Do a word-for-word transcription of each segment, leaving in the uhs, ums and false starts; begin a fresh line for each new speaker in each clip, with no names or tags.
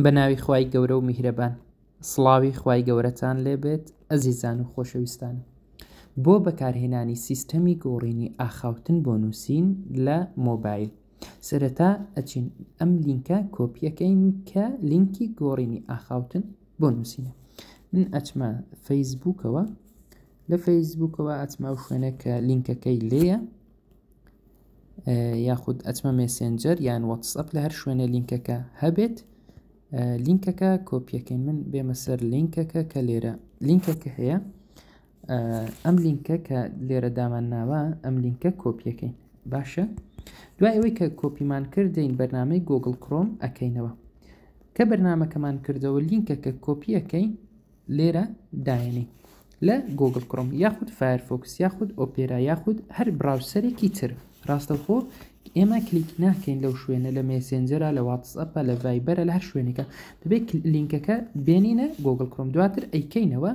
بە ناوی خوای گەورە و میهرەبان. سڵاوی خوای گەورەتان لێبێت ئەزیزان و خۆشەویستانم. بۆ بەکارهێنانی سیستەمی گۆڕینی ئاخاوتن بۆ نووسین لە مۆبایل، سەرەتا ئەچین ئەم لینکە کۆپیەکەین کە لینکی گۆڕینی ئاخاوتن بۆ نووسینە. من ئەچمە فەیسبووکەوە، لە فەیسبووکەوە ئەچمە ئەو شوێنە کە لینکەکەی لێیە، یاخود ئەچمە مێسنجەر یان واتسئەپ، لە هەر شوێنە لینکەکە هەبێت لینکەکە کۆپیەکەین. من بێمە سەر لینکەکە کە لێرە لینکەکە هەیە، ئەم لینکە کە لێرە دامان ناوە، ئەم لینکە کۆپیەکەین. باشە، دوای ئەوەی کە کۆپیمان کردین بەرنامەی گوگل کرۆم ئەکەینەوە. کە بەرنامەکەمان کردەوە لینکەکە کۆپیەکەین لێرە داێنین لە گوگل کرۆم یاخود فایرفۆکس یاخود ئۆپێرا یاخود هەر browser ێکی تر. ڕاستەوخۆ ئێمە کلیک ناکەین لەو شوێنە، لە مێسنجەرە، لە واتسئەپە، لە ڤایبەرە، لە هەر شوێنێکە دەبێت لینکەکە بێنینە گوگل کرۆم، دواتر ئەیکەینەوە.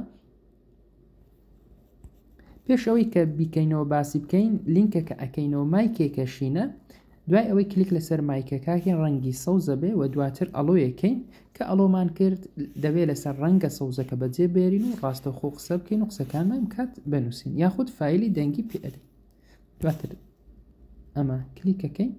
پێش ئەوەی کە بیکەینەوە باسی بکەین، لینکەکە ئەکەینەوە مایکێکە شینە. دوای ئەوەی کلیک لەسەر مایکەکەکەین ڕەنگی سەوزە بێ و دواتر allow یەکەین. کە allow مان کرد دەبێت لەسەر ڕەنگە سەوزەکە بەجێ بێرین و ڕاستەوخۆ قسە بکەین و قسەکانمان کات بنووسین یاخود فایلی دەنگی پێ ئەدەین. دواتر ئەمە کلیکەکەین.